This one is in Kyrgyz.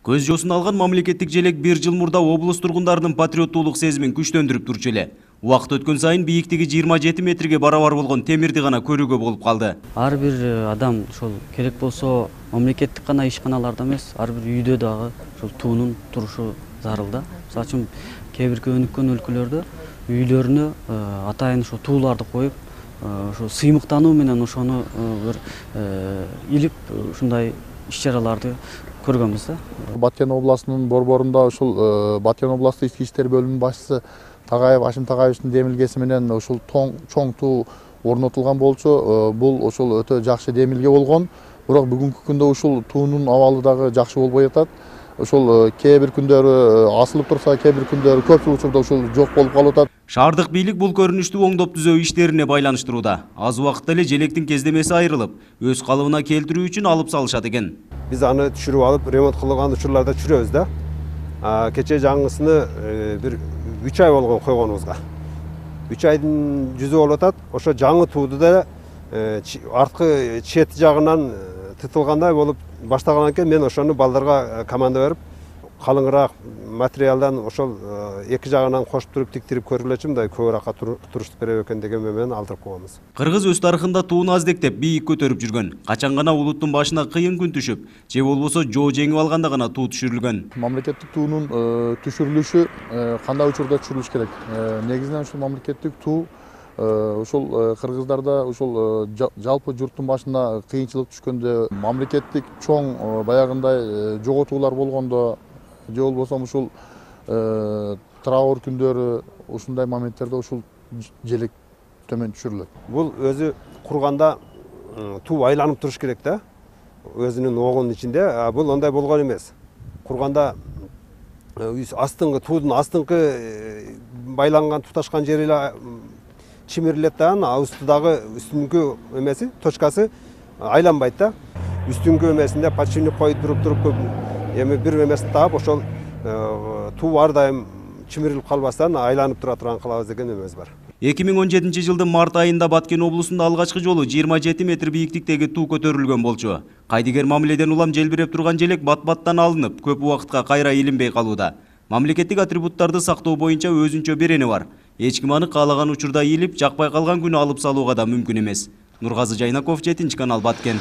Көз жосун алган мамлекеттик желек 1 жыл мурда облус тургундарынын патриоттуулук сезимин күчтөндүрүп турчу эле. Убакыт өткөн сайын бийиктиги 27 метрге барабар болгон темирди гана көрүүгө болуп калды. Ар бир адам ошол керек болсо мамлекеттик гана ишканаларда эмес, ар бир үйдө дагы ошол туунун турушу зарыл да. Мисалы үчүн кээ бир өнүккөн өлкөлөрдө үйлөрүнө атайын ошо тууларды коюп, ошо сыймыктануу менен ошону бир илип ушундай иш-чараларды көргөнбүз да. Баткен областынын борборунда ушул Баткен областтык ички иштер бөлүмүнүн башчысы Тагайев Ашим Тагайевичтин демилгеси менен ушул чоң туу орнотулган болчу. Бул ошол өтө жакшы демилге болгон. Бирок бүгүнкү күндө ушул туунун абалы дагы жакшы болбой атат. Ошол кээ бир күндөрү асылып турса, кээ бир күндөрү көпчүлүк учурда ушул жок болуп калып атат. Шаардык бийлик бул көрүнүштү оңдоп түзөө иштерине байланыштырууда. Аз убакытта эле желектин кездемеси айрылып, өз калыбына келтирүү үчүн алып салышат экен. Биз аны түшүрүп алып, ремонт кылган учурларда түшүрөбүз да. Кече жаңысыны бир 3 ай болгон койгонубузга. 3 айдын жүзү болуп атат. Ошо жаңы тууду да арткы чет жагынан тытылгандай болуп баштаган экен. Мен ошону балдарга команда берип, калыңыраак материалдан ошол эки жагынан кошуп туруп тиктирип көргүлөчү, мындай көбүрөөк туруштук берет экен деген менен алдырып койгонбуз. Кыргыз өз тарыхында тууну аздектеп бийик көтөрүп жүргөн. Качан гана улуттун башына кыйын күн түшүп, же болбосо жоо жеңип алганда гана туу түшүрүлгөн. Мамлекеттик туунун түшүрүлүшү кандай учурда түшүрүлүш керек? Негизинен ушул мамлекеттик туу ушул кыргыздарда ушул жалпы журттун башына кыйынчылык түшкөндө, мамлекеттик чоң баягындай жоготуулар болгондо, же болбосо ушул траур күндөрү, ушундай моменттерде ушул желек төмөн түшүрүлөт. Бул өзү курганда туу айланып туруш керек да, өзүнүн огунун ичинде. Бул ондай болгон эмес. Курганда астыңкы туудун астыңкы байланган туташкан жери эле чимирилет да, устудагы үстүнкү эмеси, точкасы айланбайт да. Үстүнкү эмесинде подшипник коюп туруп эми бир эмесин таап, ошол туу ар дайым чимирилип калбастан айланып тура турган кылабыз деген эмебиз бар. 2017 жылдын март айында Баткен облусунда алгачкы жолу 27 метр бийиктиктеги туу көтөрүлгөн болчу. Кайдыгер мамиледен улам желбиреп турган желек бат-баттан алынып, көп убакытка кайра илинбей калууда. Мамлекеттик атрибуттарды сактоо боюнча өзүнчө берени бар. Эч ким аны каалаган учурда илип, жакпай калган күнү алып салууга да мүмкүн эмес. Нургазы Жайнаков, 7 канал, Баткен.